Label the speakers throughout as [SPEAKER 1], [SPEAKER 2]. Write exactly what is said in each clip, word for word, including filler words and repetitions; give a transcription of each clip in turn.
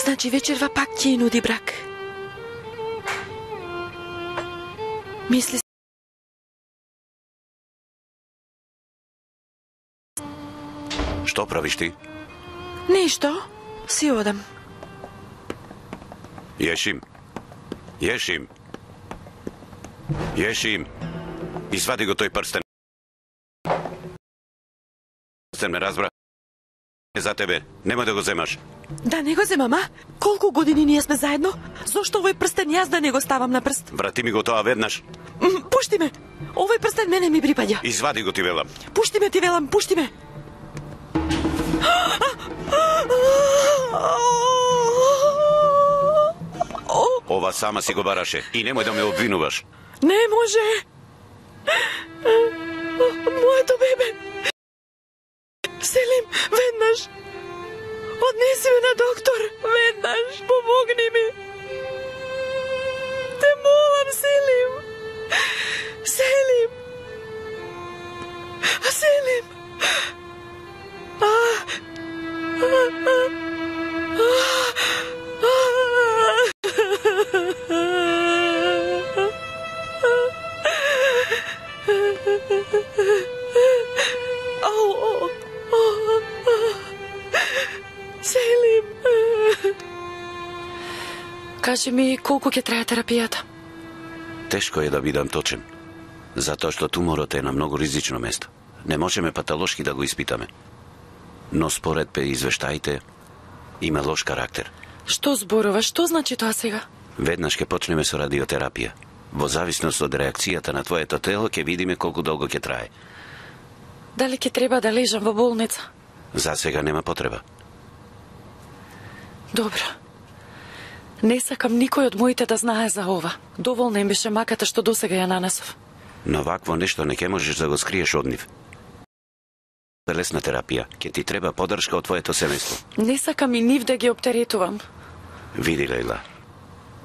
[SPEAKER 1] Значи вечерва пак ќе нуди брак. Мисли
[SPEAKER 2] Што правиш ти?
[SPEAKER 1] Ништо, си одам.
[SPEAKER 2] Јешим. Јешим. Јешим. Извади го тој прстен. Прстен ме разбра. За тебе, нема да го земаш.
[SPEAKER 1] Да не го земам, а? Колку години ние сме заедно? Зошто овој прстен јас да не го ставам на прст?
[SPEAKER 2] Врати ми го тоа веднаш.
[SPEAKER 1] М, Пушти ме! Овој прстен мене ми припаѓа.
[SPEAKER 2] Извади го ти велам.
[SPEAKER 1] Пушти ме, ти велам, пушти ме!
[SPEAKER 2] Ова сама си го бараше и немој да ме обвинуваш.
[SPEAKER 1] Не може! Моето бебе! Селим, веднаш! Однеси ме на доктор! Веднаш! Помогни ми! Те молам, Селим! Селим! Селим! А! А! Селим. Кажи ми колку ќе трае терапијата?
[SPEAKER 2] Тешко е да бидам точен, затоа што туморот е на многу ризично место. Не можеме патолошки да го испитаме. Но според пе извештаите, има лош карактер.
[SPEAKER 1] Што зборува? Што значи тоа сега?
[SPEAKER 2] Веднаш ќе почнеме со радиотерапија. Во зависност од реакцијата на твоето тело ќе видиме колку долго ќе трае.
[SPEAKER 1] Дали ќе треба да лежам во болница?
[SPEAKER 2] За сега нема потреба.
[SPEAKER 1] Добро. Не сакам никој од моите да знае за ова. Доволна им беше маката што досега ја нанесов.
[SPEAKER 2] Но вакво нешто не ќе можеш да го скриеш од нив. Телесна терапија, ќе ти треба поддршка од твоето семејство.
[SPEAKER 1] Не сакам и нив да ги оптеретувам.
[SPEAKER 2] Види, Лејла,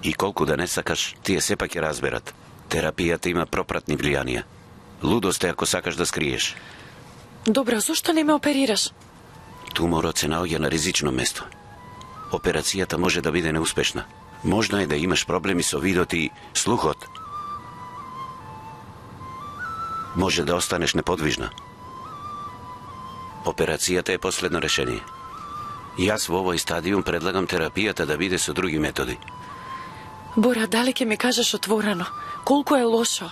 [SPEAKER 2] и колку да не сакаш, тие сепак ќе разберат. Терапијата има пропратни влијанија. Лудост е ако сакаш да скриеш.
[SPEAKER 1] Добро, зошто не ме оперираш?
[SPEAKER 2] Туморот се наоѓа на ризично место. Операцијата може да биде неуспешна. Можно е да имаш проблеми со видот и слухот. Може да останеш неподвижна. Операцијата е последно решение. Јас во овој стадиум предлагам терапијата да биде со други методи.
[SPEAKER 1] Бора, дали ќе ми кажеш отворено? Колку е лошо?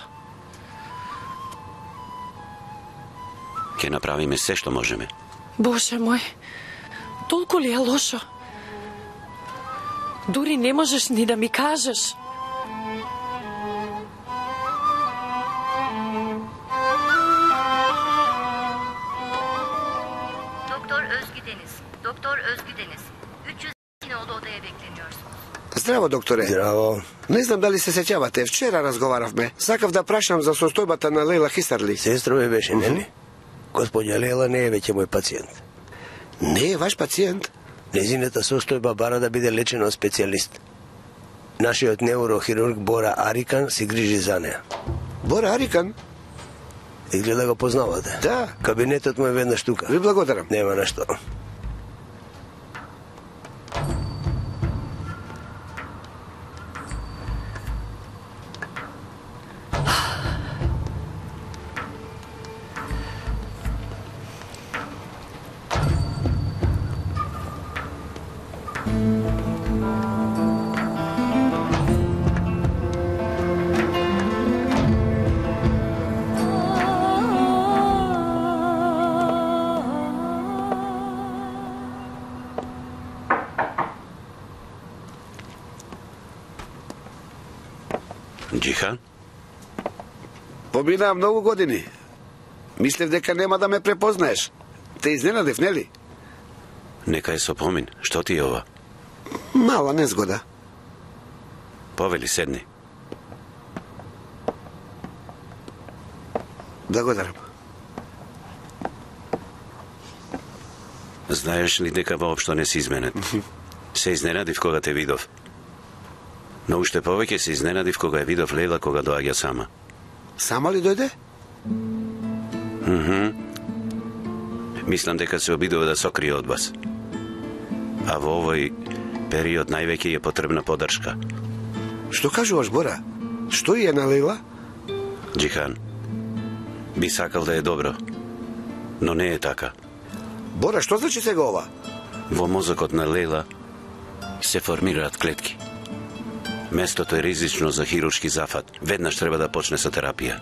[SPEAKER 2] Ќе направиме се што можеме.
[SPEAKER 1] Боже мој, толку ли е лошо? Дури не можеш ни да ми кажеш.
[SPEAKER 3] Doktor Özgü Deniz. Doktor Özgü Deniz. üç yüz iki nolu odaya bekleniyorsunuz.
[SPEAKER 4] Здраво, докторе.
[SPEAKER 5] Здраво.
[SPEAKER 4] Не знам дали се сеќавате, вчера разговаравме. Сакав да прашам за состојбата на Лејла Хисарли.
[SPEAKER 5] Сестра ми беше, нели? Господја Лејла не е веќе мој пациент.
[SPEAKER 4] Не е ваш пациент?
[SPEAKER 5] Незината состојба бара да биде лечена од специјалист. Нашиот неурохирург Бора Арикан се грижи за неа.
[SPEAKER 4] Бора Арикан?
[SPEAKER 5] Изгледа го познавате.
[SPEAKER 4] Да.
[SPEAKER 5] Кабинетот му е веднаш тука.
[SPEAKER 4] Ви благодарам.
[SPEAKER 5] Нема на што.
[SPEAKER 2] Џихан?
[SPEAKER 4] Поминаа многу години. Мислев дека нема да ме препознаеш. Те изненадев, нели?
[SPEAKER 2] Нека е со помин. Што ти е ова?
[SPEAKER 4] Мала незгода.
[SPEAKER 2] Повели, седни.
[SPEAKER 4] Благодарам.
[SPEAKER 2] Знаеш ли дека воопшто не си изменет? Се изненадив кога те видов. Но уште повеќе се изненадив кога ја видов Лејла кога доаѓа сама.
[SPEAKER 4] Сама ли дојде?
[SPEAKER 2] Мхм. Мислам дека се обидува да сокрие од вас. А во овој период највеќе е потребна поддршка.
[SPEAKER 4] Што кажуваш, Бора? Што е на Лейла?
[SPEAKER 2] Џихан, би сакал да е добро, но не е така.
[SPEAKER 4] Бора, што значи сега ова?
[SPEAKER 2] Во мозокот на Лейла се формираат клетки. Местото е ризично за хируршки зафат. Веднаш треба да почне со терапија.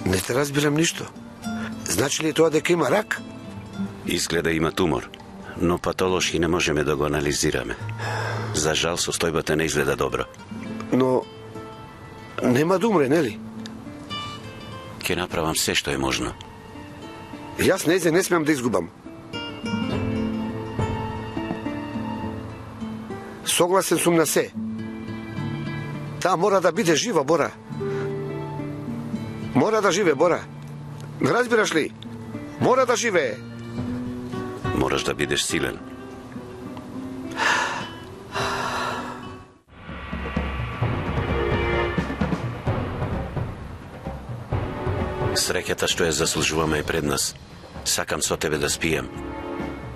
[SPEAKER 4] Не те разбирам ништо. Значи ли тоа дека има рак?
[SPEAKER 2] Изгледа има тумор, но патолошки не можеме да го анализираме. За жал, состојбата не изгледа добро.
[SPEAKER 4] Но нема да умре, нели?
[SPEAKER 2] Ќе направам се што е можно.
[SPEAKER 4] Јас незе не смеам да изгубам. Согласен сум на се. Таа мора да биде жива, Бора. Мора да живе, Бора. Разбираш ли? Мора да живее.
[SPEAKER 2] Мораш да бидеш силен. Среќата што ја заслужуваме е пред нас. Сакам со тебе да спием.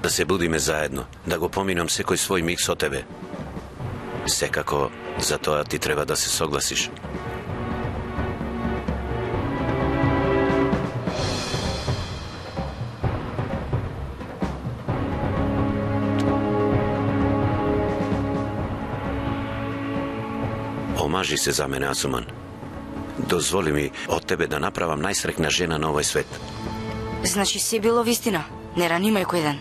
[SPEAKER 2] Да се будиме заедно. Да го поминам секој свој миг со тебе. Секако, за тоа ти треба да се согласиш. Омажи се за мене, Асуман. Дозволи ми од тебе да направам најсрекна жена на овој свет.
[SPEAKER 6] Значи се било вистина. Не ранимај кој ден.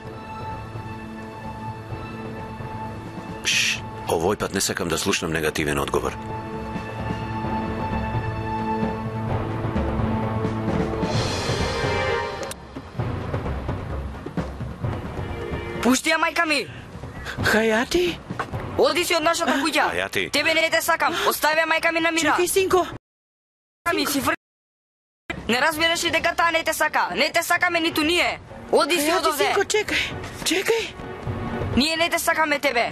[SPEAKER 2] Шш, овој пат не сакам да слушнам негативен одговор.
[SPEAKER 6] Пушти ја, мајка ми!
[SPEAKER 7] Хајати?
[SPEAKER 6] Оди си од нашата куќа.
[SPEAKER 2] Хајати.
[SPEAKER 6] Тебе не те сакам. Остави ја, мајка ми, на мира.
[SPEAKER 7] Чекај, синко.
[SPEAKER 6] Мајка ми, си фр... Не разбираш ли дека таа не те сака? Не те сакаме ниту ние. Оди си од
[SPEAKER 7] Хајати,
[SPEAKER 6] овде.
[SPEAKER 7] синко, чекај. Чекај.
[SPEAKER 6] Ние не те сакаме тебе.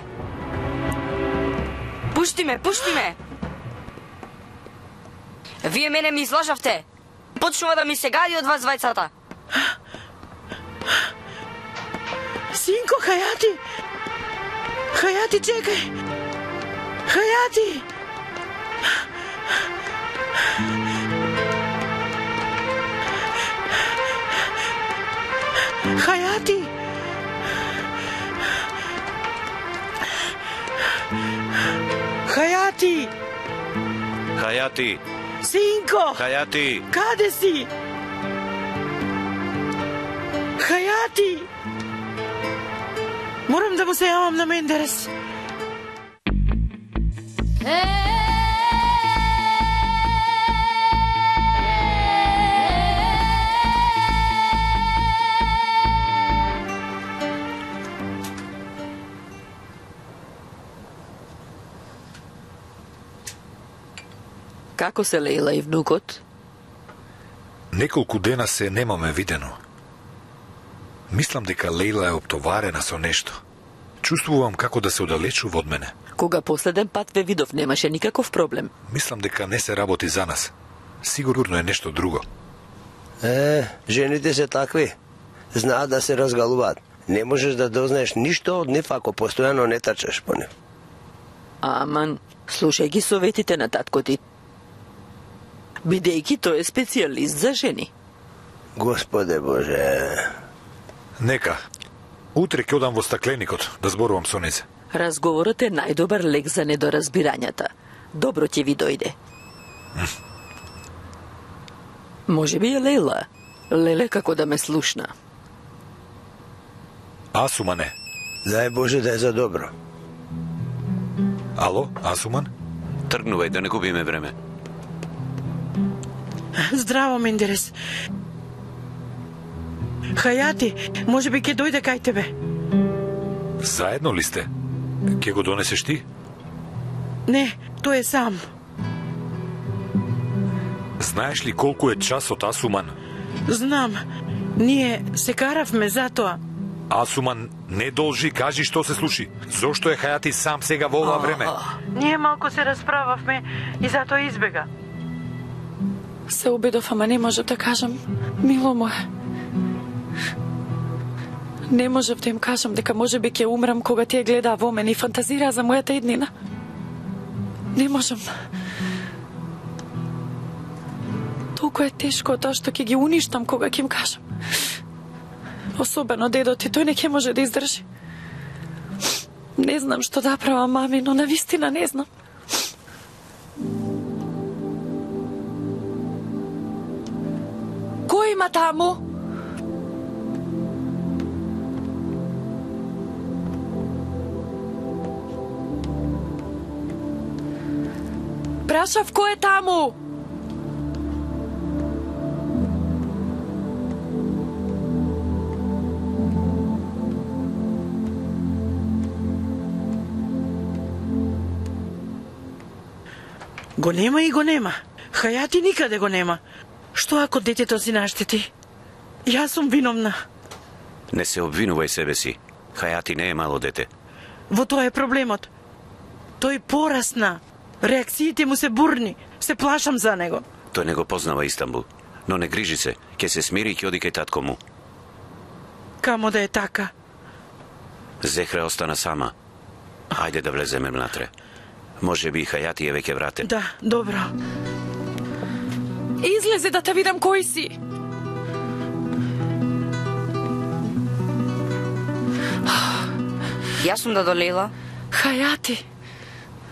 [SPEAKER 6] Пушти ме, пушти ме. Вие мене ми излажавте. Почнува да ми се гади од вас двајцата.
[SPEAKER 7] Синко, Хајати. Хајати, чекај. Хајати. Хајати. Хајати.
[SPEAKER 2] Хајати,
[SPEAKER 7] Синко.
[SPEAKER 2] Хајати.
[SPEAKER 7] Каде си? Хајати. Морам да му се јавам на Мендерес.
[SPEAKER 1] Како се Лейла и внукот?
[SPEAKER 8] Неколку дена се немаме видено. Мислам дека Лейла е оптоварена со нешто. Чувствувам како да се оддалечува од мене.
[SPEAKER 1] Кога последен пат ве видов, немаше никаков проблем.
[SPEAKER 8] Мислам дека не се работи за нас. Сигурно е нешто друго.
[SPEAKER 5] Е, жените се такви. Знаат да се разгалуваат. Не можеш да дознаеш ништо од нив ако постојано не трчаш по нив.
[SPEAKER 1] Аман, слушај ги советите на татко ти. Бидејќи тој е специјалист за жени.
[SPEAKER 5] Господе Боже.
[SPEAKER 8] Нека. Утре ќе одам во стакленикот да зборувам со незе.
[SPEAKER 1] Разговорот е најдобар лек за недоразбирањата. Добро ќе ви дојде. Може би е Лейла. Леле како да ме слушна.
[SPEAKER 8] Асумане.
[SPEAKER 5] Дај Боже да е за добро.
[SPEAKER 8] Ало, Асуман?
[SPEAKER 2] Тргнувај да не губиме време.
[SPEAKER 7] Здраво, Мендерес. Хајати, може би ќе дојде кај тебе.
[SPEAKER 8] Заедно ли сте? Ке го донесеш ти?
[SPEAKER 7] Не, тој е сам.
[SPEAKER 8] Знаеш ли колку е часот, Асуман?
[SPEAKER 7] Знам. Ние се каравме затоа.
[SPEAKER 8] Асуман, не должи, кажи што се случи. Зошто е Хајати сам сега во ова време?
[SPEAKER 7] Ние малку се расправавме и затоа избега.
[SPEAKER 1] Се обидов, ама не можам да кажам. Мило моје. Не можев да им кажам дека може би ќе умрам кога тие гледаа во мене и фантазираа за мојата иднина. Не можам. Толку е тешко тоа што ќе ги уништам кога ќе им кажам. Особено дедо ти, тој не ќе може да издржи. Не знам што да правам, мами, но навистина не знам. Кој има таму? Прашав кој е таму?
[SPEAKER 7] Го нема и го нема. Хајати никаде го нема. Што ако детето си наштети? Јас сум виновна.
[SPEAKER 2] Не се обвинувај себе си. Хајати не е мало дете.
[SPEAKER 7] Во тоа е проблемот. Тој порасна. Реакциите му се бурни. Се плашам за него.
[SPEAKER 2] Тој не го познава Истанбул. Но не грижи се. Ке се смири и ќе оди кај татко му.
[SPEAKER 7] Камо да е така?
[SPEAKER 2] Зехра остана сама. Ајде да влеземе внатре. Може би и Хајати е веќе вратен.
[SPEAKER 7] Да, добро.
[SPEAKER 1] Излезе да те видам кој си.
[SPEAKER 6] Јас сум Дадо Лейла.
[SPEAKER 1] Хајати.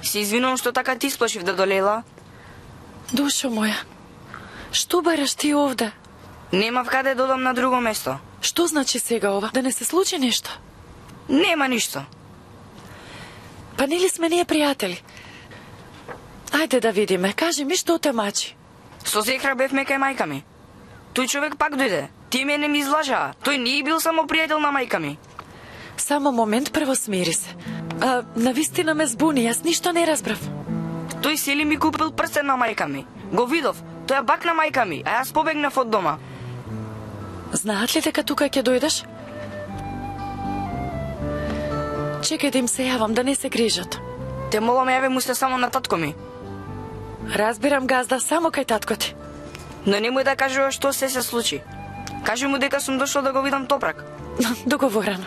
[SPEAKER 6] Се извинувам што така ти сплашив, Дадо Лейла.
[SPEAKER 1] Душо моја, што бараш ти овде?
[SPEAKER 6] Немав каде да одам на друго место.
[SPEAKER 1] Што значи сега ова? Да не се случи нешто?
[SPEAKER 6] Нема ништо.
[SPEAKER 1] Па нели сме ние пријатели? Ајде да видиме, кажи ми што те мачи.
[SPEAKER 6] Со Зехра бевме кај мајка ми. Тој човек пак дојде. Тие мене ми излажаа. Тој не е бил само пријател на мајка ми.
[SPEAKER 1] Само момент, прво смири се. А, навистина ме збуни, јас ништо не разбрав.
[SPEAKER 6] Тој сели ми купил прстен на мајка ми. Го видов. Тој е бак на мајка ми, а јас побегнав од дома.
[SPEAKER 1] Знаат ли дека тука ќе дојдеш? Чекај да им се јавам, да не се грижат.
[SPEAKER 6] Те молам, јаве му се само на татко ми.
[SPEAKER 1] Разбирам, газда, само кај татко ти.
[SPEAKER 6] Но немој да кажува што се се случи. Кажи му дека сум дошол да го видам Топрак.
[SPEAKER 1] Договорено.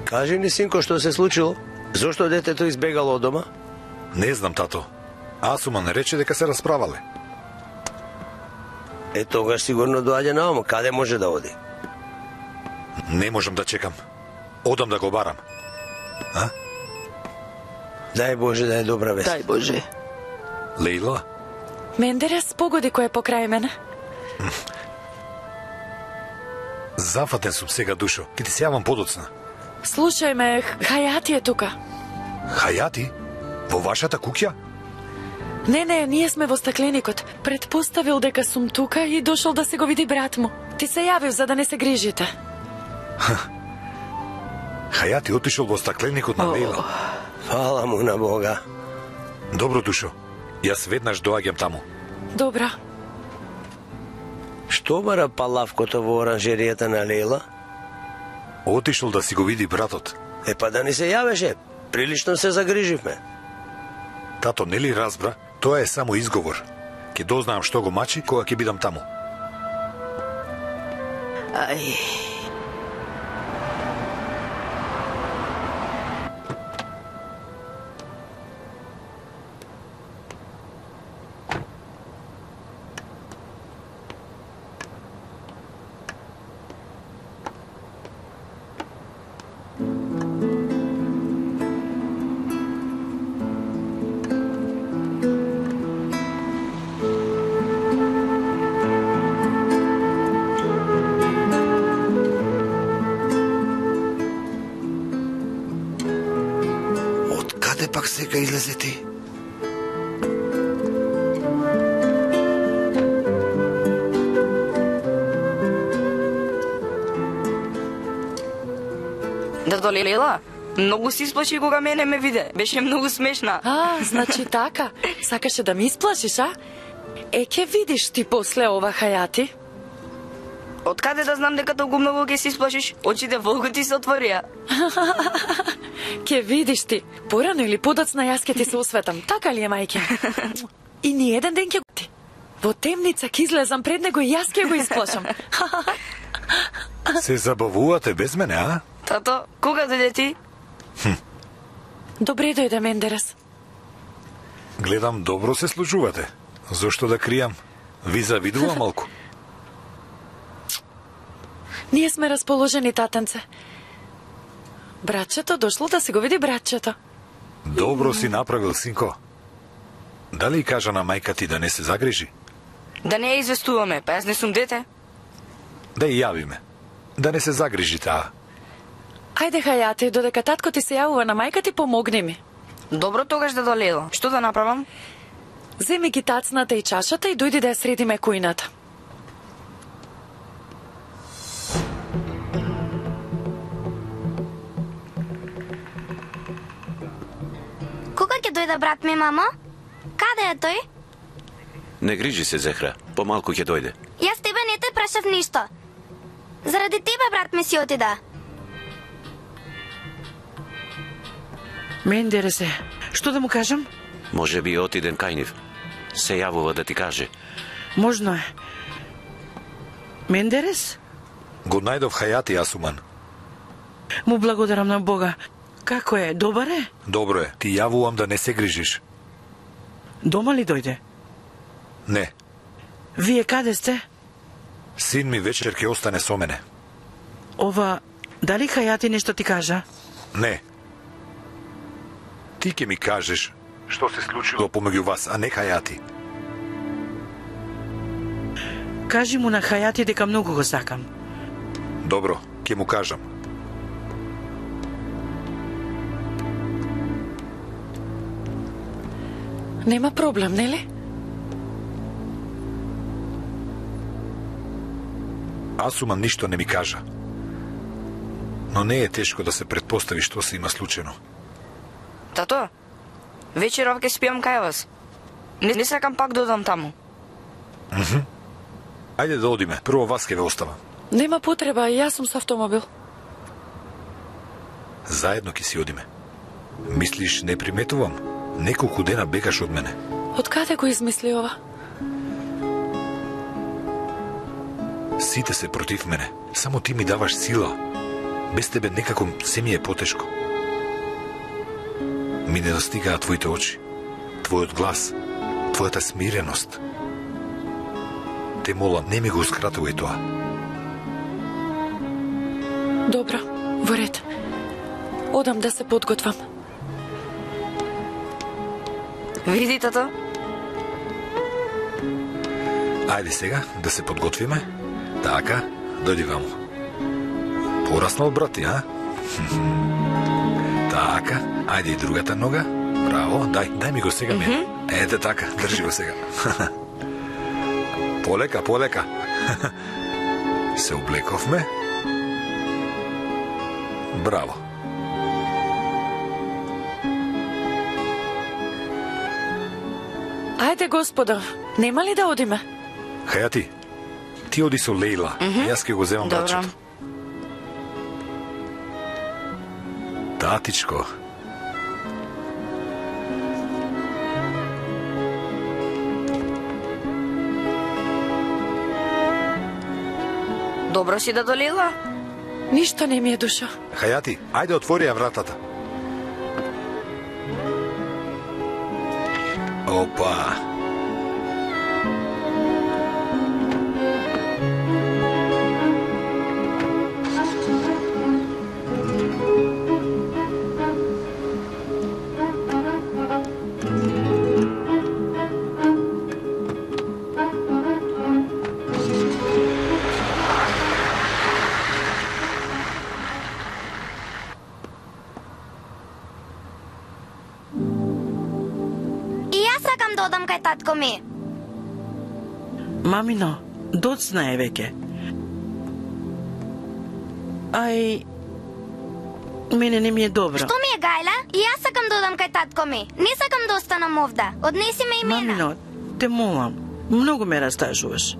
[SPEAKER 5] Кажи ни, синко, што се случило? Зошто детето избегало од дома?
[SPEAKER 8] Не знам, тато. Асума не рече дека се расправале.
[SPEAKER 5] Е, тогаш сигурно доаѓа на ум. Каде може да оди?
[SPEAKER 8] Не можам да чекам. Одам да го барам. А?
[SPEAKER 5] Дај Боже да е добра вест.
[SPEAKER 7] Дај Боже.
[SPEAKER 8] Лейла?
[SPEAKER 1] Мендерес, погоди кој е покрај мене.
[SPEAKER 8] Зафатен сум сега, Душо. Ке ти се јавам подоцна.
[SPEAKER 1] Слушај ме, Хајати е тука.
[SPEAKER 8] Хајати? Во вашата куќа?
[SPEAKER 1] Не, не, ние сме во стакленикот. Предпоставил дека сум тука и дошол да се го види брат му. Ти се јавив за да не се грижите.
[SPEAKER 8] Хајати отишол во стакленикот на Лейла.
[SPEAKER 5] Фала му на Бога.
[SPEAKER 8] Добро, Душо. Јас веднаш доаѓам таму.
[SPEAKER 1] Добра.
[SPEAKER 5] Што бара палавкото во оранжеријата на Лейла?
[SPEAKER 8] Отишол да си го види братот.
[SPEAKER 5] Е, па да ни се јавеше. Прилично се загриживме.
[SPEAKER 8] Тато нели разбра? Тоа е само изговор. Ке дознаам што го мачи кога ќе бидам таму.
[SPEAKER 7] Ај.
[SPEAKER 4] Пак сега излезе ти.
[SPEAKER 6] Дадо Лейла, многу си исплаши кога мене ме виде. Беше многу смешна.
[SPEAKER 1] А, значи така. Сакаше да ми исплашиш, а? Е, ке видиш ти после ова, Хајати.
[SPEAKER 6] Од каде да знам дека толку многу ќе се исплашиш? Очите волку ти се отворија.
[SPEAKER 1] Ке видиш ти. Порано или подоцна јас ке ти се осветам. Така ли е, мајке? И ни еден ден ќе ти. Во темница ќе излезам пред него и јас ќе го исплашам.
[SPEAKER 8] Се забавувате без мене, а?
[SPEAKER 6] Тато, кога дојде ти?
[SPEAKER 1] Добре дојде, Мендерес.
[SPEAKER 8] Гледам, добро се случувате. Зошто да кријам? Ви завидувам малку.
[SPEAKER 1] Ние сме расположени, татенце. Братчето дошло да се го види братчето.
[SPEAKER 8] Добро си направил, синко. Дали кажа на мајка ти да не се загрижи?
[SPEAKER 6] Да не ја известуваме, па јас не сум дете.
[SPEAKER 8] Да ја јавиме. Да не се загрижи таа.
[SPEAKER 1] Ајде, Хајати, додека татко ти се јавува на мајка ти, помогни ми.
[SPEAKER 6] Добро, тогаш да долело. Што да направам?
[SPEAKER 1] Земи ги тацната и чашата и дојди да ја средиме кујната.
[SPEAKER 9] Кога ќе дојде брат ми, мамо? Каде е тој?
[SPEAKER 2] Не грижи се, Зехра. Помалку ќе дојде.
[SPEAKER 9] Јас тебе не те прашав ништо. Заради тебе брат ми си отида.
[SPEAKER 7] Мендересе, што да му кажам?
[SPEAKER 2] Може би отиден кај нив. Се јавува да ти каже.
[SPEAKER 7] Можно е. Мендерес?
[SPEAKER 8] Го најдов Хајати, Асуман.
[SPEAKER 7] Му благодарам на Бога. Како е? Добар е?
[SPEAKER 8] Добро е. Ти јавувам да не се грижиш.
[SPEAKER 7] Дома ли дојде?
[SPEAKER 8] Не.
[SPEAKER 7] Вие каде сте?
[SPEAKER 8] Син ми вечер ќе остане со мене.
[SPEAKER 7] Ова, дали Хајати нешто ти кажа?
[SPEAKER 8] Не. Ти ќе ми кажеш што се случило помеѓу вас, а не Хајати.
[SPEAKER 7] Кажи му на Хајати дека многу го сакам.
[SPEAKER 8] Добро, ќе му кажам.
[SPEAKER 1] Нема проблем, нели?
[SPEAKER 8] Асуман ништо не ми кажа. Но не е тешко да се претпостави што се има случено.
[SPEAKER 6] Тато, вечеров ќе спијам кај вас. Не, не сакам пак да одам таму.
[SPEAKER 8] Мхм. Ајде да одиме. Прво вас ќе ве оставам.
[SPEAKER 1] Нема потреба, јас сум со автомобил.
[SPEAKER 8] Заедно ќе си одиме. Мислиш, не приметувам? Неколку дена бегаш од мене.
[SPEAKER 1] Од каде го измисли ова?
[SPEAKER 8] Сите се против мене. Само ти ми даваш сила. Без тебе некако се ми е потешко. Ми не достигаат твоите очи, твојот глас, твојата смиреност. Те молам, не ми гоускратувај тоа.
[SPEAKER 1] Добро, во ред. Одам да се подготвам.
[SPEAKER 6] Види, тато.
[SPEAKER 8] Ајде сега да се подготвиме. Така, дојди ваму. Пораснал брат ти, а? Така, ајде и другата нога. Браво, дај, дај ми го сега ми. Mm-hmm. Ете така, држи го сега. Полека, полека. Се облековме. Браво.
[SPEAKER 1] Ајде, господа, нема ли да одиме?
[SPEAKER 8] Хајати, ти оди со Лейла, mm-hmm. Јас ќе го земам братчето. Татичко.
[SPEAKER 6] Добро си да долила?
[SPEAKER 1] Ништо не ми е душа.
[SPEAKER 8] Хајати, ајде отвори ја вратата. Опа.
[SPEAKER 9] Татко ми.
[SPEAKER 7] Мамино, доцна е веќе. Ај, мене не ми е добро.
[SPEAKER 9] Што ми е, Гајла? И јас сакам да одам кај татко ми. Не сакам да останам овда. Однеси ме и мене.
[SPEAKER 7] Мамино, те молам. Многу ме растажуваш.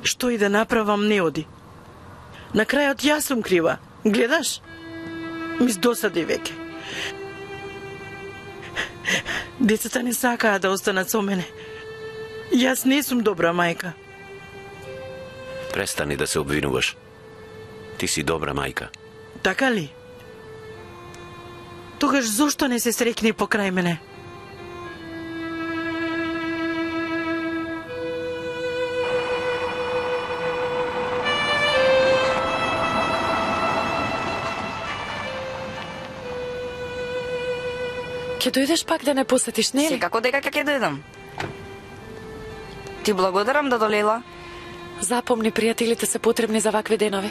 [SPEAKER 7] Што и да направам, не оди. На крајот јас сум крива. Гледаш? Ми досади веќе. Децата не сакаат да останат со мене. Јас не сум добра мајка.
[SPEAKER 2] Престани да се обвинуваш. Ти си добра мајка.
[SPEAKER 7] Така ли? Тогаш зошто не се срекни покрај мене?
[SPEAKER 1] Ќе дојдеш пак да не посетиш, не ли?
[SPEAKER 6] Секако дека ќе дојдам. Ти благодарам, дадо Лейла.
[SPEAKER 1] Запомни, пријателите се потребни за вакви денови.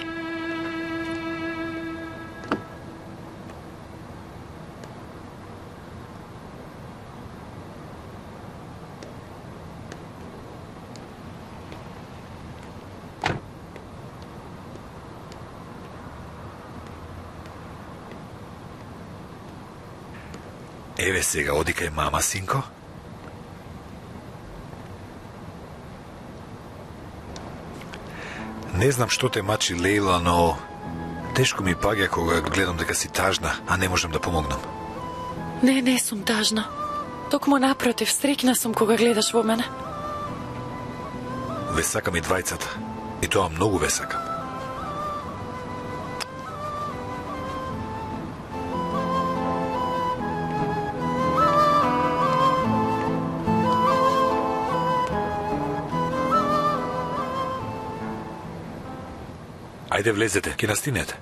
[SPEAKER 8] Еве сега, оди кај мама, синко. Не знам што те мачи Лейла, но тешко ми паѓа кога гледам дека си тажна, а не можам да помогнам.
[SPEAKER 1] Не, не сум тажна. Токму напротив, срекна сум кога гледаш во мене.
[SPEAKER 8] Ве сакам и двајцата. И тоа многу ве сакам. Ајде влезете, ќе настинете.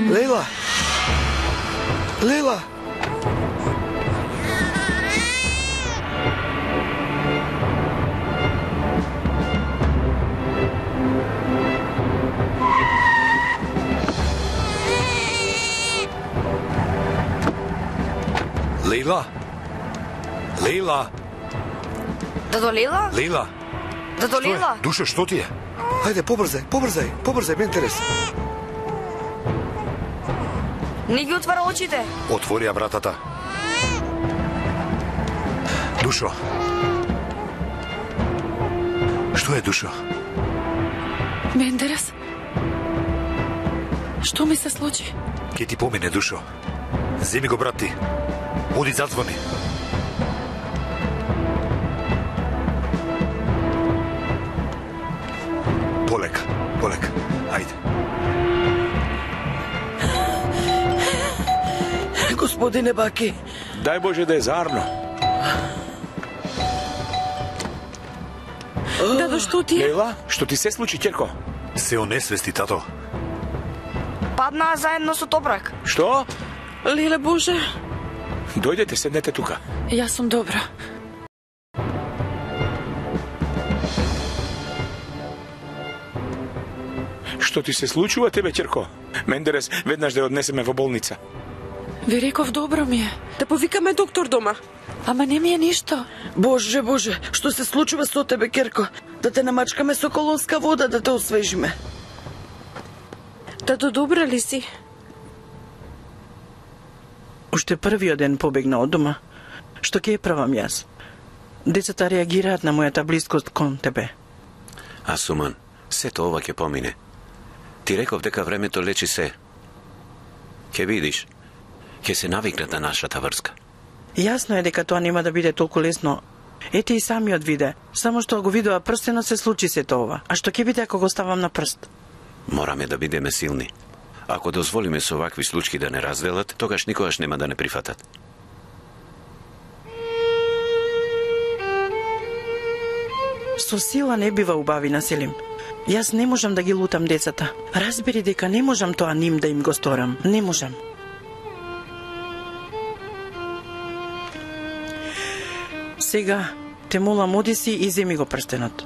[SPEAKER 4] Лейла! Лейла!
[SPEAKER 8] Лейла? Лейла?
[SPEAKER 6] Дадо Лейла?
[SPEAKER 8] Лейла?
[SPEAKER 6] Дадо Лейла?
[SPEAKER 8] Душа, што ти е?
[SPEAKER 4] Ајде, побрзај, побрзај, побрзај, ме интерес.
[SPEAKER 6] Не ги отвара очите.
[SPEAKER 8] Отвори ја вратата. Душо. Што е, Душо?
[SPEAKER 1] Мендерес? Што ми се случи?
[SPEAKER 8] Ке ти помине, Душо. Земи го, брат ти. Оди, зазвони. Полека, полека. Ајде.
[SPEAKER 7] Господине Баки.
[SPEAKER 10] Дај Боже да е заарно.
[SPEAKER 1] Дадо, што ти е?
[SPEAKER 10] Лейла, што ти се случи, ќерко?
[SPEAKER 8] Се онесвести, тато.
[SPEAKER 6] Паднаа заедно со топрак.
[SPEAKER 10] Што?
[SPEAKER 1] Леле Боже.
[SPEAKER 10] Дојдете, седнете тука.
[SPEAKER 1] Јас сум добра.
[SPEAKER 10] Што ти се случува тебе, ќерко? Мендерес, веднаш да ја однесеме во болница.
[SPEAKER 1] Ви реков добро ми е.
[SPEAKER 11] Да повикаме доктор дома.
[SPEAKER 1] Ама не ми е ништо.
[SPEAKER 7] Боже, Боже, што се случува со тебе, Керко? Да те намачкаме со колонска вода да те освежиме.
[SPEAKER 11] Дадо, добра ли си?
[SPEAKER 7] Уште првиот ден побегна од дома. Што ќе ја правам јас? Децата реагираат на мојата блискост кон тебе.
[SPEAKER 2] Асуман, сето ова ќе помине. Ти реков дека времето лечи се. Ќе видиш, ќе се навикнат на нашата врска.
[SPEAKER 7] Јасно е дека тоа нема да биде толку лесно. Ете и самиот виде. Само што го видува прстенот се случи сето ова. А што ќе биде ако го ставам на прст?
[SPEAKER 2] Мораме да бидеме силни. Ако дозволиме со вакви случаи да не разделат, тогаш никогаш нема да не прифатат.
[SPEAKER 7] Со сила не бива убавина, Селим. Јас не можам да ги лутам децата. Разбери дека не можам тоа ним да им го сторам. Не можам. Сега, те молам, оди си и земи го прстенот.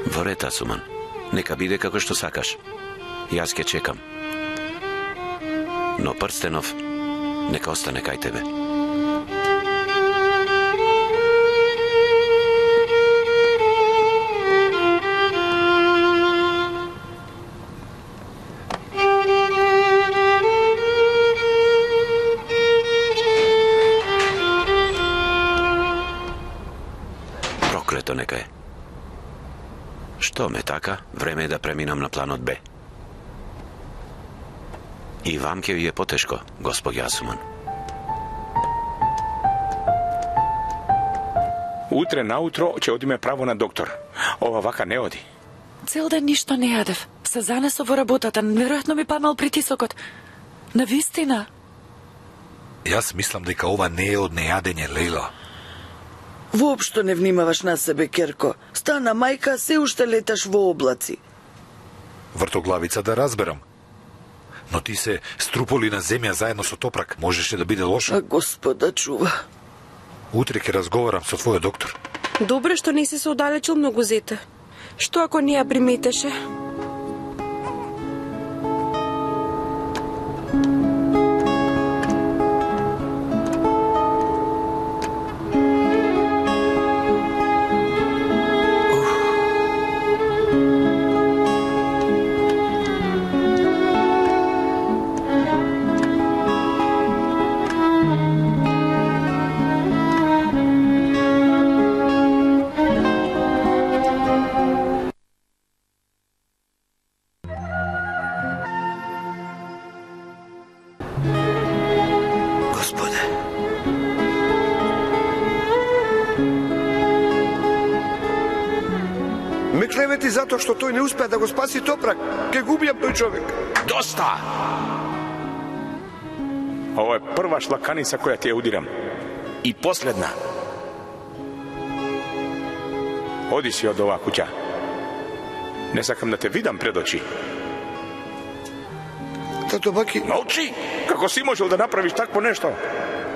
[SPEAKER 2] Во ред, Асуман. Нека биде како што сакаш. Јас ќе чекам. Но прстенов нека остане кај тебе. Проклето нека е. Што ме така, време е да преминам на планот Б. И вам ќе ви е потешко, госпоѓа Асуман.
[SPEAKER 10] Утре наутро ќе одиме право на доктор. Ова вака не оди.
[SPEAKER 1] Цел ден ништо не јадев. Се занесо во работата, веројатно ми паднал притисокот. Навистина.
[SPEAKER 8] Јас мислам дека ова не е од нејадење, Лејла.
[SPEAKER 7] Воопшто не внимаваш на себе, Керко. Стана мајка, се уште леташ во облаци.
[SPEAKER 8] Вртоглавица да разберам. Но ти се струполи на земја заедно со топрак. Можеше да биде лошо.
[SPEAKER 7] А Господа чува.
[SPEAKER 8] Утре ќе разговарам со твојот доктор.
[SPEAKER 11] Добре што не си се оддалечил многу, зете. Што ако не ја приметеше?
[SPEAKER 4] Ме клевети затоа што тој не успеа да го спаси топрак. Ке губијам тој човек.
[SPEAKER 10] Доста! Ова е прва шлаканица која ти ја удирам. И последна. Оди си од оваа куќа. Не сакам да те видам пред очи.
[SPEAKER 4] Тато Баки...
[SPEAKER 10] Молчи! Како си можел да направиш такво нешто?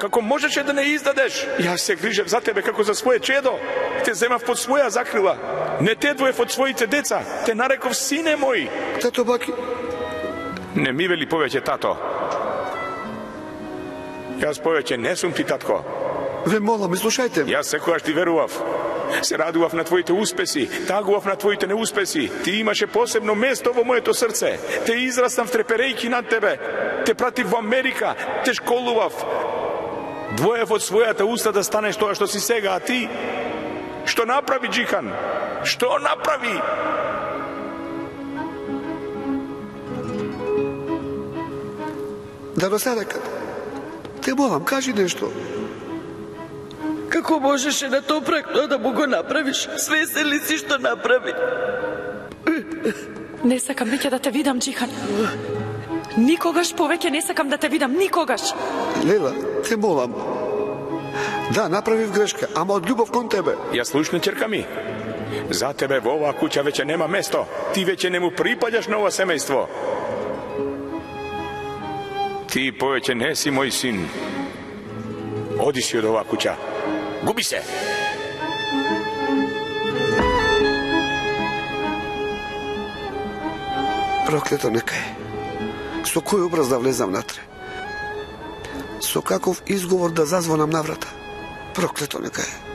[SPEAKER 10] Како можеше да не издадеш? Јас се грижев за тебе како за своје чедо. Те земав под своја закрила. Не те двоев од своите деца. Те нареков сине мој.
[SPEAKER 4] Тато Баки...
[SPEAKER 10] Не ми вели повеќе тато. Јас повеќе не сум ти татко.
[SPEAKER 4] Ве молам, слушајте.
[SPEAKER 10] Јас секогаш ти верував. Се радував на твоите успеси, тагував на твоите неуспеси. Ти имаше посебно место во моето срце. Те израснав треперејки над тебе. Те пратив во Америка, те школував. Двоев од својата уста да станеш тоа што си сега, а ти? Што направи Џихан? Што направи?
[SPEAKER 4] Да досадекат. Те молам, кажи нешто.
[SPEAKER 7] Како можеше на топрак тоа да му го направиш? Свесен ли си што направи?
[SPEAKER 1] Не сакам веќе да те видам, Џихан. Никогаш повеќе не сакам да те видам, никогаш.
[SPEAKER 4] Лела, те молам. Да, направив грешка, ама од љубов кон тебе.
[SPEAKER 10] Ја слушни, ќерка ми. За тебе во оваа куќа веќе нема место. Ти веќе не му припаѓаш на ова семејство. Ти повеќе не си мој син. Оди си од оваа куќа. Губи се!
[SPEAKER 4] Проклето нека е. Со кој образ да влезам натре? Со каков изговор да зазвонам на врата? Проклето нека е.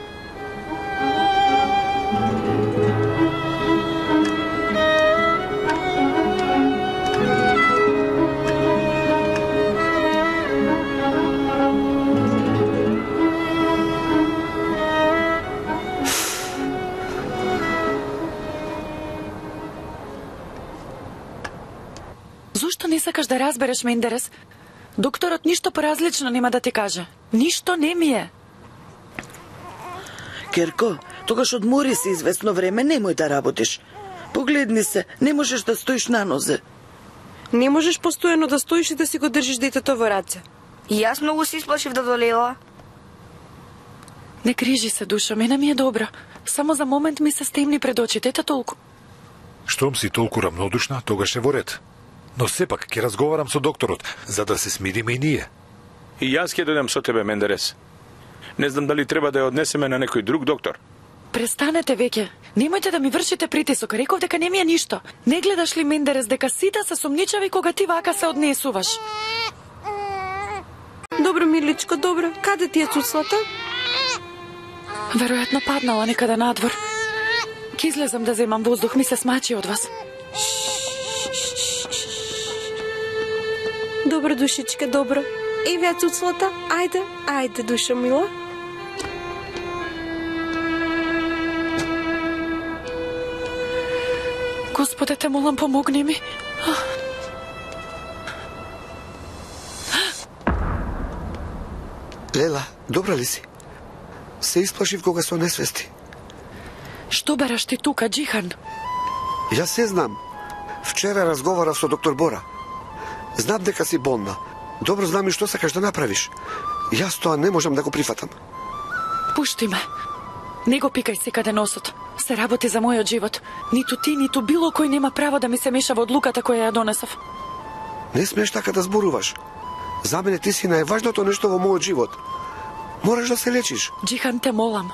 [SPEAKER 1] Зошто не сакаш да разбереш, Мендерес? Докторот ништо поразлично нема да ти каже. Ништо не ми е.
[SPEAKER 7] Керко, тогаш одмори се известно време, немој да работиш. Погледни се, не можеш да стоиш на нозе.
[SPEAKER 11] Не можеш постојано да стоиш и да си го држиш детето во раце.
[SPEAKER 6] И јас многу се исплашив да долела.
[SPEAKER 1] Не крижи се, душа, мене ми е добро. Само за момент ми се стемни пред очите, ета толку.
[SPEAKER 8] Штом си толку рамнодушна, тогаш е во ред. Но сепак ќе разговарам со докторот, за да се смириме и ние.
[SPEAKER 10] И јас ќе дојдам со тебе, Мендерес. Не знам дали треба да ја однесеме на некој друг доктор.
[SPEAKER 1] Престанете веќе. Немојте да ми вршите притисок. Реков дека не ми е ништо. Не гледаш ли, Мендерес, дека сите се сумничави кога ти вака се однесуваш?
[SPEAKER 11] Добро, миличко, добро. Каде ти е цуцлата?
[SPEAKER 1] Веројатно паднала некаде надвор. Ке излезам да земам воздух, ми се смачи од вас.
[SPEAKER 11] Добро, душичка, добро. Еве ја цуцлата. Ајде, ајде, душа мила.
[SPEAKER 1] Господе, те молам, помогни ми.
[SPEAKER 4] Лела, добра ли си? Се исплашив кога со несвести.
[SPEAKER 1] Што бараш ти тука, Џихан?
[SPEAKER 4] Јас се знам. Вчера разговарав со доктор Бора. Знам дека си болна. Добро знам и што сакаш да направиш. Јас тоа не можам да го прифатам.
[SPEAKER 1] Пушти ме. Не го пикај секаде носот. Се работи за мојот живот. Ниту ти, ниту било кој нема право да ми се меша во одлуката која ја донесов.
[SPEAKER 4] Не смееш така да зборуваш. За мене ти си најважното нешто во мојот живот. Мораш да се лечиш.
[SPEAKER 1] Џихан, те молам.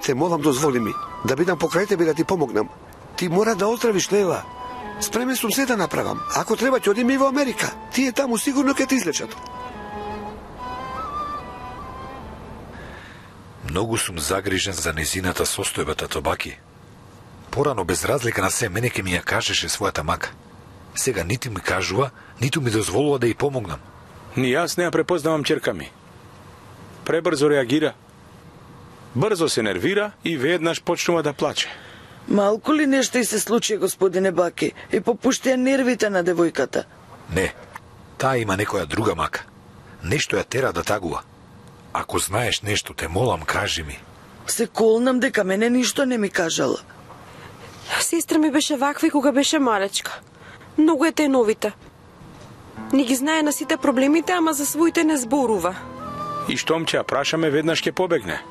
[SPEAKER 4] Те молам, дозволи ми да бидам покрај тебе да ти помогнам. Ти мора да оздравиш, Лела. Спремен сум се да направам. Ако треба ќе одиме и во Америка. Тие таму сигурно ќе те излечат.
[SPEAKER 8] Многу сум загрижен за незината состојба, тато Баки. Порано, без разлика на се, мене ке ми ја кажеше својата мака. Сега нити ми кажува, ниту ми дозволува да ја помогнам.
[SPEAKER 10] Ни јас не ја препознавам ќерка ми. Пребрзо реагира. Брзо се нервира и веднаш почнува да плаче.
[SPEAKER 7] Малку ли нешто и се случи, господине Баки, и попуштија нервите на девојката?
[SPEAKER 8] Не, таа има некоја друга мака. Нешто ја тера да тагува. Ако знаеш нешто, те молам, кажи ми.
[SPEAKER 7] Се колнам дека мене ништо не ми кажала.
[SPEAKER 11] Сестра ми беше ваква и кога беше малечка. Многу е теновита. Не ги знае на сите проблемите, ама за своите не зборува.
[SPEAKER 10] И штом ќе ја прашаме, веднаш ќе побегне.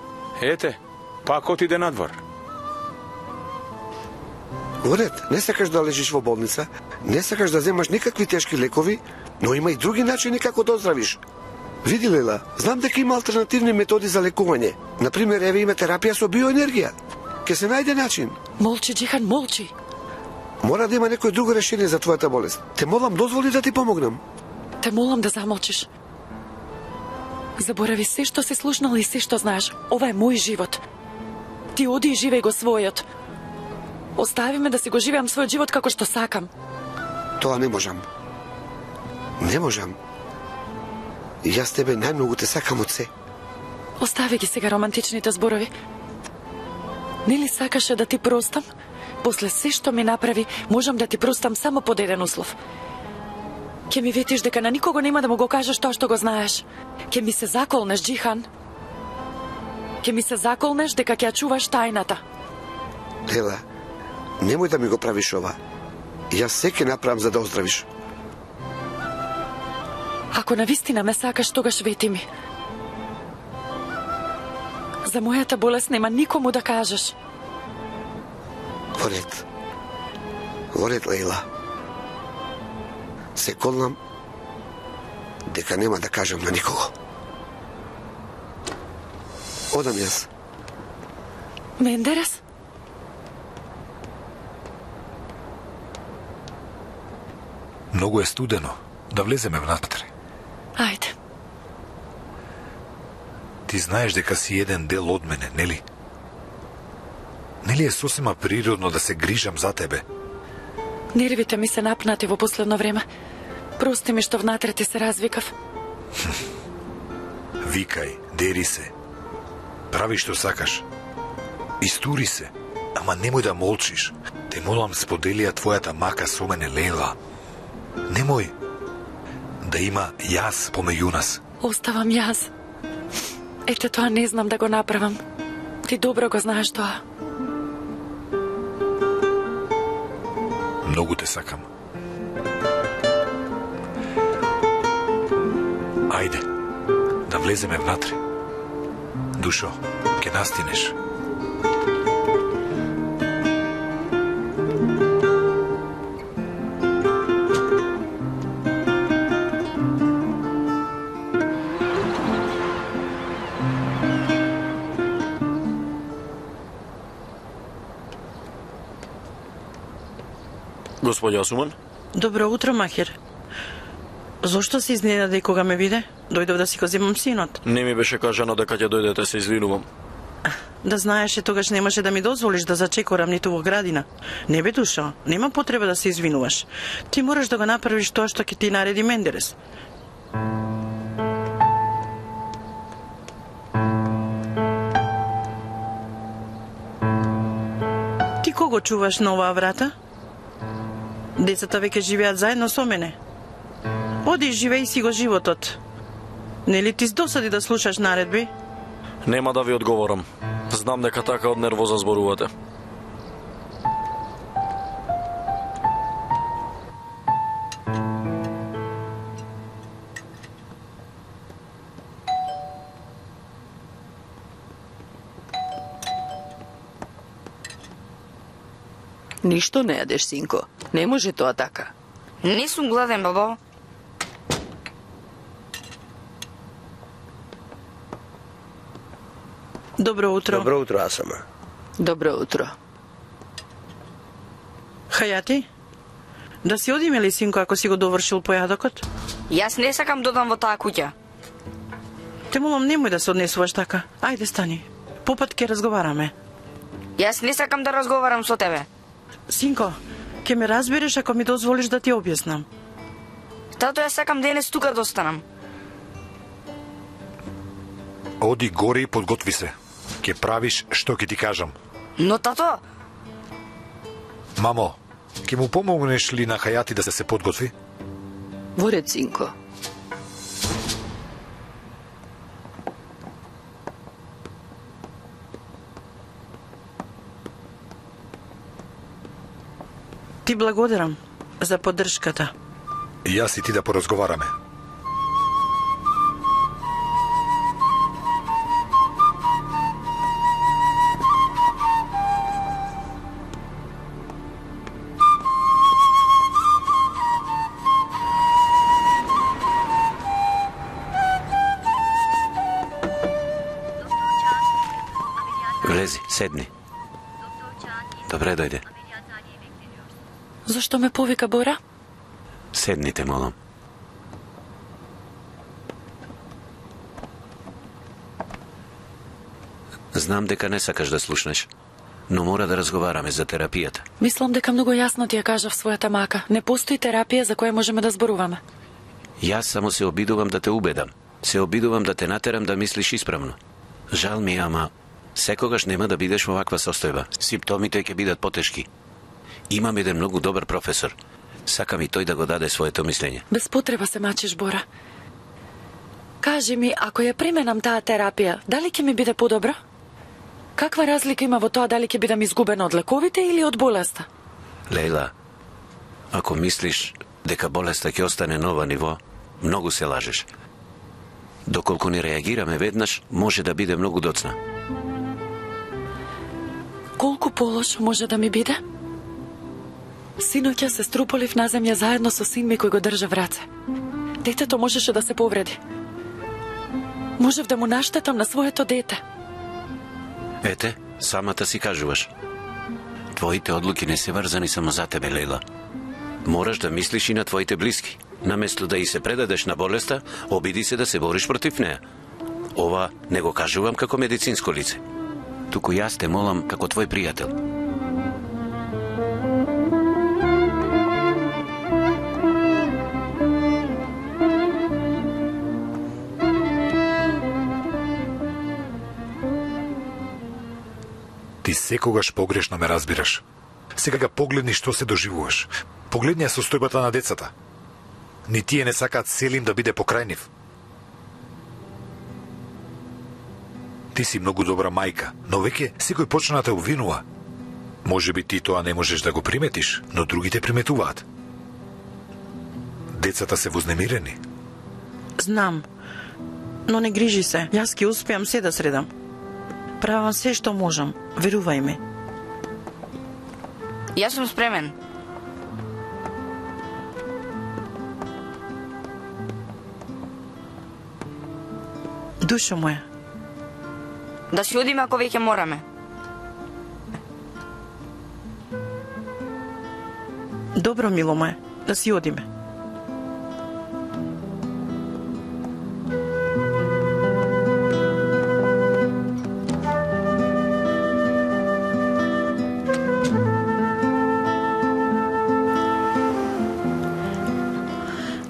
[SPEAKER 10] Ете, пак отиде надвор.
[SPEAKER 4] Горет, не сакаш да лежиш во болница, не сакаш да земаш никакви тешки лекови, но има и други начини како да оздравиш. Види, Лела, знам дека има алтернативни методи за лекување. Например, еве има терапија со биоенергија. Ке се најде начин.
[SPEAKER 1] Молчи, Џихан, молчи.
[SPEAKER 4] Мора да има некој друго решение за твојата болест. Те молам, дозволи да ти помогнам.
[SPEAKER 1] Те молам да замолчиш. Заборави се што се слушнал и се што знаеш. Ова е мој живот. Ти оди и живеј го својот. Остави ме да си го живеам својот живот како што сакам.
[SPEAKER 4] Тоа не можам. Не можам. Јас тебе најмногу те сакам од се.
[SPEAKER 1] Остави ги сега романтичните зборови. Нели сакаше да ти простам? После се што ми направи, можам да ти простам само под еден услов. Ке ми ветиш дека на никого нема да му го кажеш тоа што го знаеш. Ке ми се заколнеш, Џихан. Ке ми се заколнеш дека ќе ја чуваш тајната.
[SPEAKER 4] Лела, немој да ми го правиш ова. Јас се ке направам за да оздравиш.
[SPEAKER 1] Ако навистина ме сакаш, тогаш вети ми. За мојата болест нема никому да кажеш.
[SPEAKER 4] Во ред. Во ред, Лейла. Се колнам дека нема да кажам на никого. Одам јас.
[SPEAKER 1] Мендерес?
[SPEAKER 8] Многу е студено. Да влеземе внатре.
[SPEAKER 1] Ајде.
[SPEAKER 8] Ти знаеш дека си еден дел од мене, нели? Нели е сосема природно да се грижам за тебе?
[SPEAKER 1] Нервите ми се напнати во последно време. Прости ми што внатре ти се развикав.
[SPEAKER 8] Викај, дери се. Прави што сакаш. Истури се, ама немој да молчиш. Те молам, споделија твојата мака со мене, Лейла. Немој да има јас помеѓу нас.
[SPEAKER 1] Оставам јас. Ете, тоа не знам да го направам. Ти добро го знаеш тоа.
[SPEAKER 8] Многу те сакам. Ајде, да влеземе внатре. Душо, ке настинеш.
[SPEAKER 12] Господја Осуман?
[SPEAKER 7] Добро утро, махер. Зошто се изненади кога ме виде? Дојдов да си го земам синот.
[SPEAKER 12] Не ми беше кажано дека ќе дојдете, се извинувам.
[SPEAKER 7] Да знаеше, тогаш немаше да ми дозволиш да зачекорам ниту во градина. Не бе, Душо, нема потреба да се извинуваш. Ти мораш да го направиш тоа што ќе ти нареди Мендерес. Ти кого чуваш на оваа врата? Децата веќе живеат заедно со мене. Оди, живеј си го животот. Нели ти досади да слушаш наредби?
[SPEAKER 12] Нема да ви одговорам. Знам дека така од нервоза зборувате.
[SPEAKER 13] Ништо не јадеш, синко. Не може тоа така.
[SPEAKER 6] Не сум гладен, бабо.
[SPEAKER 7] Добро утро.
[SPEAKER 5] Добро утро, Асама.
[SPEAKER 13] Добро утро.
[SPEAKER 7] Хајати, да си одиме ли, синко, ако си го довршил појадокот?
[SPEAKER 6] Јас не сакам да одам во таа куќа.
[SPEAKER 7] Те молам, немој да се однесуваш така. Ајде, стани. Попат ќе разговараме.
[SPEAKER 6] Јас не сакам да разговарам со тебе.
[SPEAKER 7] Синко, ќе ме разбереш ако ми дозволиш да ти објаснам.
[SPEAKER 6] Тато, јас сакам денес тука да останам.
[SPEAKER 8] Оди горе и подготви се. Ке правиш што ќе ти кажам.
[SPEAKER 6] Но, тато...
[SPEAKER 8] Мамо, ке му помогнеш ли на Хајати да се се подготви?
[SPEAKER 13] Во ред, синко.
[SPEAKER 7] Ти благодарам за поддршката.
[SPEAKER 8] Јас и ти да поразговараме.
[SPEAKER 2] Влези, седни. Добре дојде.
[SPEAKER 1] Зошто ме повика Бора?
[SPEAKER 2] Седните, молам. Знам дека не сакаш да слушнеш, но мора да разговараме за терапијата.
[SPEAKER 1] Мислам дека многу јасно ти ја кажав својата мака. Не постои терапија за која можеме да зборуваме.
[SPEAKER 2] Јас само се обидувам да те убедам. Се обидувам да те натерам да мислиш исправно. Жал ми, ама секогаш нема да бидеш во ваква состојба. Симптомите ќе бидат потешки. Имам еден многу добар професор. Сакам и тој да го даде своето мислење.
[SPEAKER 1] Без потреба се мачиш, Бора. Кажи ми, ако ја применам таа терапија, дали ќе ми биде подобро? Каква разлика има во тоа дали ќе бидам изгубена од лековите или од болеста?
[SPEAKER 2] Лейла, ако мислиш дека болеста ќе остане на ова ниво, многу се лажеш. Доколку не реагираме веднаш, може да биде многу доцна.
[SPEAKER 1] Колку полош може да ми биде? Синоќа се струполив на земја заедно со син ми кој го држа в раце. Детето можеше да се повреди. Можев да му наштетам на своето дете.
[SPEAKER 2] Ете, самата си кажуваш. Твоите одлуки не се врзани само за тебе, Лейла. Мораш да мислиш и на твоите блиски. Наместо да и се предадеш на болеста, обиди се да се бориш против неа. Ова не го кажувам како медицинско лице. Туку јас те молам како твој пријател.
[SPEAKER 8] Ти секогаш погрешно ме разбираш. Сега га погледни што се доживуваш. Погледни ја состојбата на децата. Ни тие не сакаат Селим да биде покрај нив. Ти си многу добра мајка, но веќе секој почна да те обвинува. Може би ти тоа не можеш да го приметиш, но другите приметуваат. Децата се вознемирени.
[SPEAKER 7] Знам, но не грижи се. Јас ќе успеам се да средам. Правам се што можам, верувај ми.
[SPEAKER 6] Јас сум спремен.
[SPEAKER 7] Душо моја.
[SPEAKER 6] Да си одиме ако веќе мораме.
[SPEAKER 7] Добро, мило моје, да си одиме.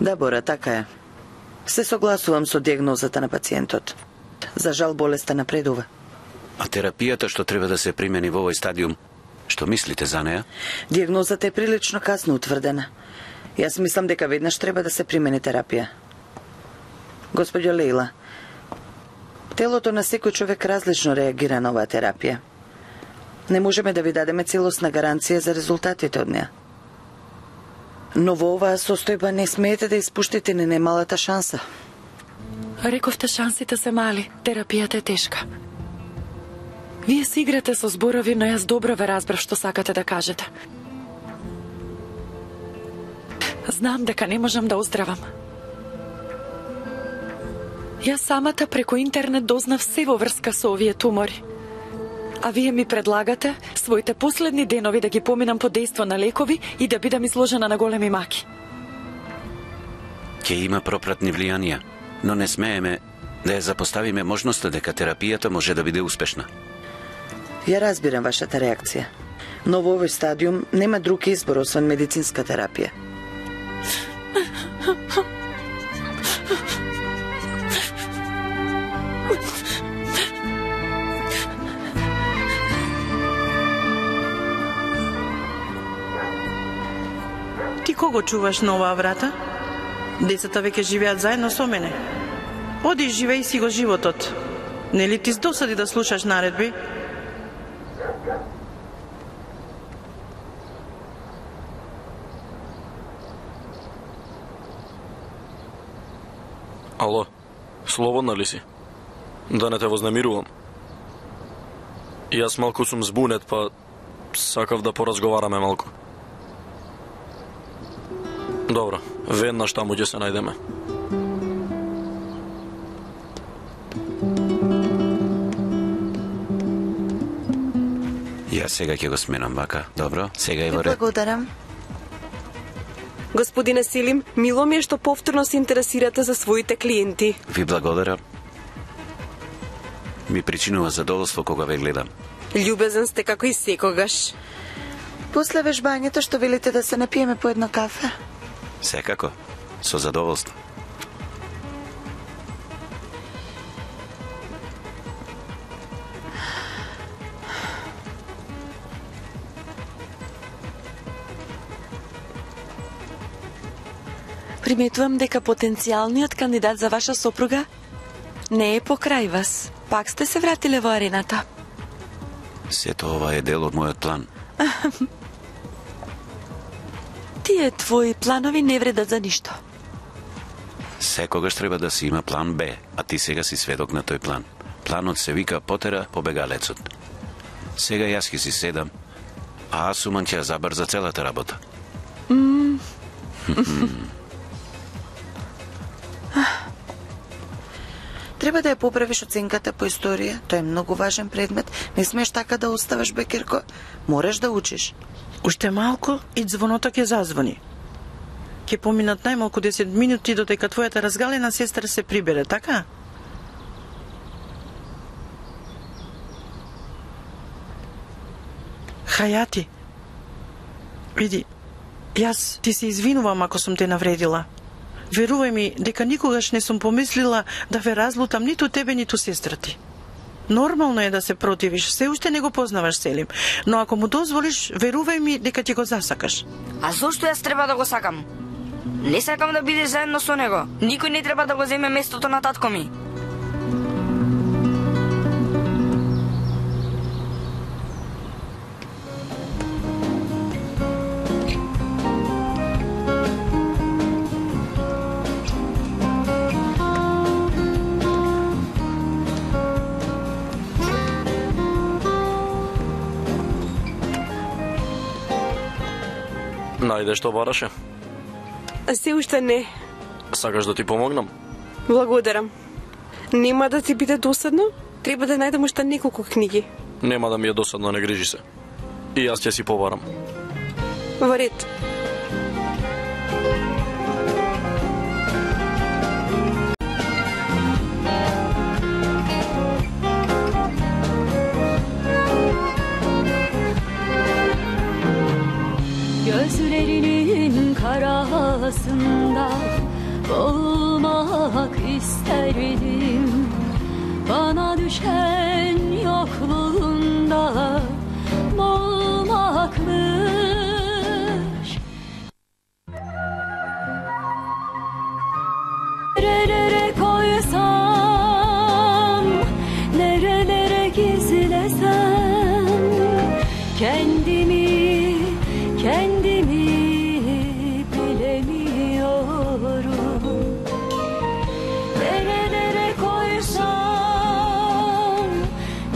[SPEAKER 13] Да, Бора, така е. Се согласувам со диагнозата на пациентот. За жал болеста напредува.
[SPEAKER 2] А терапијата што треба да се примени во овој стадиум Што мислите за неа?
[SPEAKER 13] Диагнозата е прилично касно утврдена. Јас мислам дека веднаш треба да се примени терапија. Господјо Лейла, телото на секој човек различно реагира на оваа терапија. Не можеме да ви дадеме целосна гаранција за резултатите од неа. Но во оваа состојба не смеете да испуштите ни немалата шанса.
[SPEAKER 1] Рековте шансите се мали, терапијата е тешка. Вие си играте со зборови, но јас добро ве разбрав што сакате да кажете. Знам дека не можам да оздравам. Јас самата преку интернет дознав се во врска со овие тумори. А вие ми предлагате своите последни денови да ги поминам под дејство на лекови и да бидам изложена на големи маки.
[SPEAKER 2] Ќе има пропратни влијанија, но не смееме да ја запоставиме можноста дека терапијата може да биде успешна.
[SPEAKER 13] Ја разбирам вашата реакција, но во овој стадиум нема друг избор освен медицинска терапија.
[SPEAKER 7] Ти кого чуваш на оваа врата? Децата веќе живеат заедно со мене. Оди и живеј си го животот. Нели ти досади да слушаш наредби?
[SPEAKER 12] Ало, слободна ли си? Да не те вознемирувам. Јас малку сум збунет, па сакав да поразговараме малку. Добро, веднаш таму ќе се најдеме.
[SPEAKER 2] Јас сега ќе го сменам, бака. Добро, сега е во ред.
[SPEAKER 11] Благодарам. Господине Селим, мило ми е што повторно се интересирате за своите клиенти.
[SPEAKER 2] Ви благодарам. Ми причинува задоволство кога ве гледам.
[SPEAKER 11] Љубезен сте како и секогаш.
[SPEAKER 13] После вежбањето што велите да се напиеме по едно кафе?
[SPEAKER 2] Секако, со задоволство.
[SPEAKER 11] Приметувам дека потенцијалниот кандидат за ваша сопруга не е покрај вас. Пак сте се вратиле во арената.
[SPEAKER 2] Сето ова е дел од мојот план.
[SPEAKER 11] Тие твои планови не вредат за ништо.
[SPEAKER 2] Секогаш треба да си има план Б, а ти сега си сведок на тој план. Планот се вика потера побегалецот. Сега јас ќе си седам, а Асуман ќе ја забрза целата работа.
[SPEAKER 11] Mm.
[SPEAKER 13] Треба да ја поправиш оценката по историја. Тоа е многу важен предмет. Не смееш така да оставаш, Бекерко. Мораш да учиш.
[SPEAKER 7] Уште малку и звоното ќе зазвони. Ќе поминат најмалку десет минути додека твојата разгалена сестра се прибере, така? Хајати, види, јас ти се извинувам ако сум те навредила. Верувај ми дека никогаш не сум помислила да ве разлутам ниту тебе, ниту сестра ти. Нормално е да се противиш, се уште не го познаваш Селим, но ако му дозволиш, верувај ми дека ќе го засакаш.
[SPEAKER 6] А зошто јас треба да го сакам? Не сакам да биде заедно со него. Никој не треба да го земе местото на татко ми.
[SPEAKER 12] Најде што бараше?
[SPEAKER 11] Се уште не.
[SPEAKER 12] Сакаш да ти помогнам?
[SPEAKER 11] Благодарам. Нема да ти биде досадно? Треба да најдем уште неколку книги.
[SPEAKER 12] Нема да ми е досадно, не грижи се. И јас ќе си побарам.
[SPEAKER 11] Во ред.
[SPEAKER 14] Gözlerinin karasında olmak isterdim. Bana düşen yokluğunda olmak Kendimi, kendimi bilemiyorum. Nerelere koysam,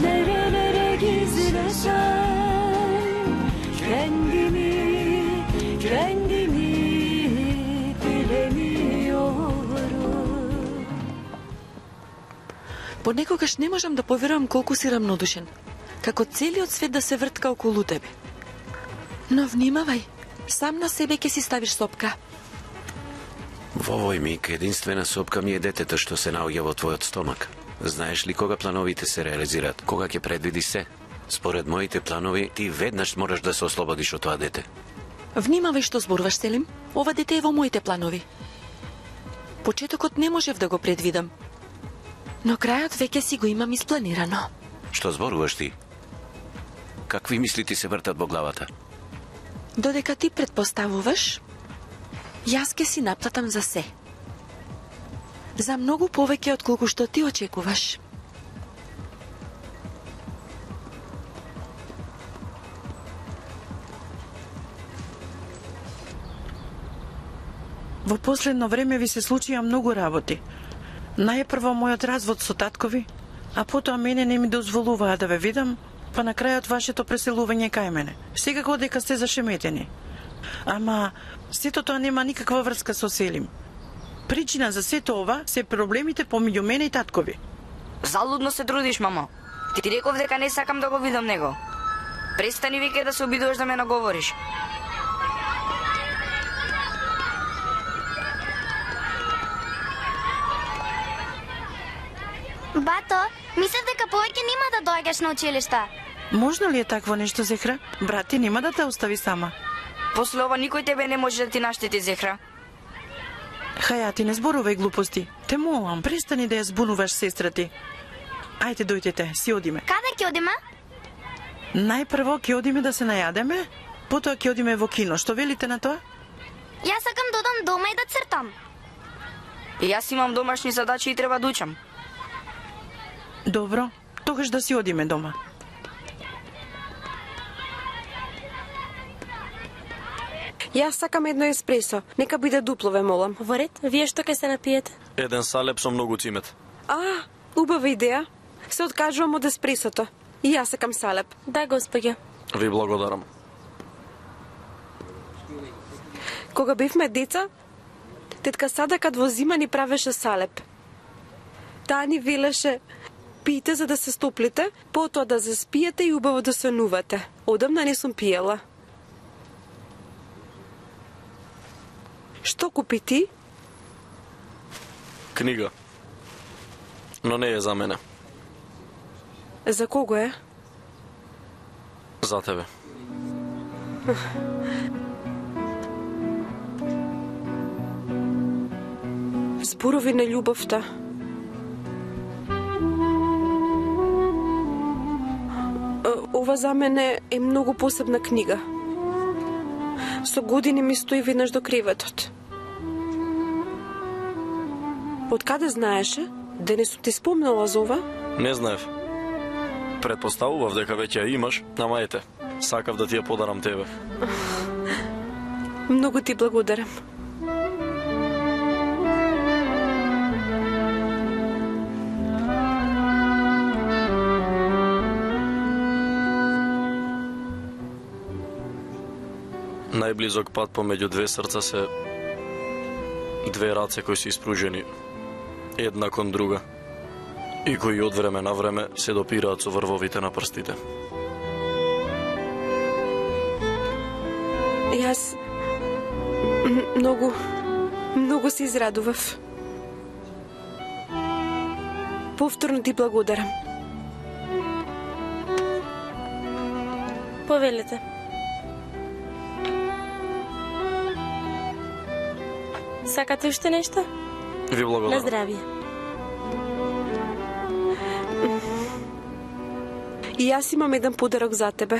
[SPEAKER 14] nerelere gizlesem, kendimi, kendimi bilemiyorum.
[SPEAKER 1] Понекогаш не можам да поверувам колку си рамнодушен, како целиот свет да се вртка околу тебе. Но внимавај, сам на себе ќе си ставиш сопка.
[SPEAKER 2] Во овој миг единствена сопка ми е детето што се наоѓа во твојот стомак. Знаеш ли кога плановите се реализираат? Кога ќе предвидиш се? Според моите планови, ти веднаш мораш да се ослободиш од тоа дете.
[SPEAKER 1] Внимавај што зборуваш, Селим. Ова дете е во моите планови. Почетокот не можев да го предвидам. Но крајот веќе си го имам испланирано.
[SPEAKER 2] Што зборуваш ти? Какви мисли ти се вртат во главата?
[SPEAKER 1] Додека ти предпоставуваш, јас ке си наплатам за се. За многу повеќе од колку што ти очекуваш.
[SPEAKER 7] Во последно време ви се случија многу работи. Најпрво мојот развод со таткови, а потоа мене не ми дозволуваа да ве видам, па на крајот вашето преселување кај мене. Секако дека сте зашеметени. Ама сето тоа нема никаква врска со Селим. Причина за сето ова се проблемите помеѓу мене и таткови.
[SPEAKER 6] Залудно се трудиш, мамо. Ти ти реков дека не сакам да го видам него. Престани веќе да се обидуваш да ме наговориш.
[SPEAKER 9] Бато, мислев дека повеќе нема да доаѓаш на училишта.
[SPEAKER 7] Можно ли е такво нешто, Зехра? Брат ти нема да те остави сама.
[SPEAKER 6] После ова никој тебе не може да ти наштети, Зехра.
[SPEAKER 7] Хајати, не зборувај глупости. Те молам, престани да ја збунуваш сестра ти. Ајде, дојдете, си одиме.
[SPEAKER 9] Каде ќе одиме?
[SPEAKER 7] Најпрво ќе одиме да се најадеме, потоа ќе одиме во кино. Што велите на тоа?
[SPEAKER 9] Јас сакам да одам дома и да цртам.
[SPEAKER 6] И јас имам домашни задачи и треба да учам.
[SPEAKER 7] Добро, тогаш да си одиме дома.
[SPEAKER 11] Јас сакам едно еспресо. Нека биде дупло, ве молам.
[SPEAKER 15] Во ред, вие што ќе се напиете?
[SPEAKER 12] Еден салеп со многу цимет.
[SPEAKER 11] А, убава идеја. Се откажувам од еспресото. И јас сакам салеп.
[SPEAKER 15] Да, господја.
[SPEAKER 12] Ви благодарам.
[SPEAKER 11] Кога бевме деца, тетка Садака во зима ни правеше салеп. Таа ни велеше: пиете за да се стоплите, потоа да заспиете и убаво да сонувате. Одамна не сум пиела. Што купи ти?
[SPEAKER 12] Книга. Но не е за мене.
[SPEAKER 11] За кого е?
[SPEAKER 12] За тебе.
[SPEAKER 11] Зборови на љубовта. Ова за мене е многу посебна книга. Со години ми стои веднаш до креветот. Од каде знаеше? Да не сум ти спомнала за ова?
[SPEAKER 12] Не знаев. Предпоставував дека веќе ја имаш, ама ете, сакав да ти ја подарам тебе.
[SPEAKER 11] Многу ти благодарам.
[SPEAKER 12] Најблизок пат помеѓу две срца се две раце кои се испружени една кон друга и кои од време на време се допираат со врвовите на прстите.
[SPEAKER 11] Јас многу, многу се израдував. Повторно ти благодарам.
[SPEAKER 15] Повелете. Сакате уште нешто?
[SPEAKER 12] Ви благодарам.
[SPEAKER 15] На здравје.
[SPEAKER 11] И јас имам еден подарок за тебе.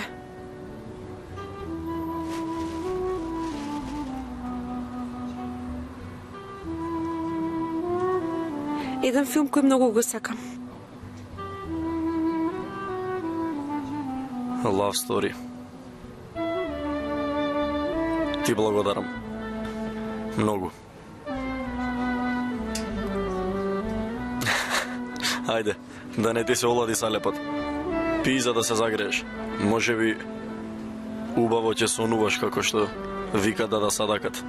[SPEAKER 11] Еден филм кој многу го сакам.
[SPEAKER 12] Love Story. Ти благодарам. Многу. Ајде, да не ти се олади салепот. Пи за да се загрееш. Може би убаво ќе сонуваш како што вика Дада Садакат.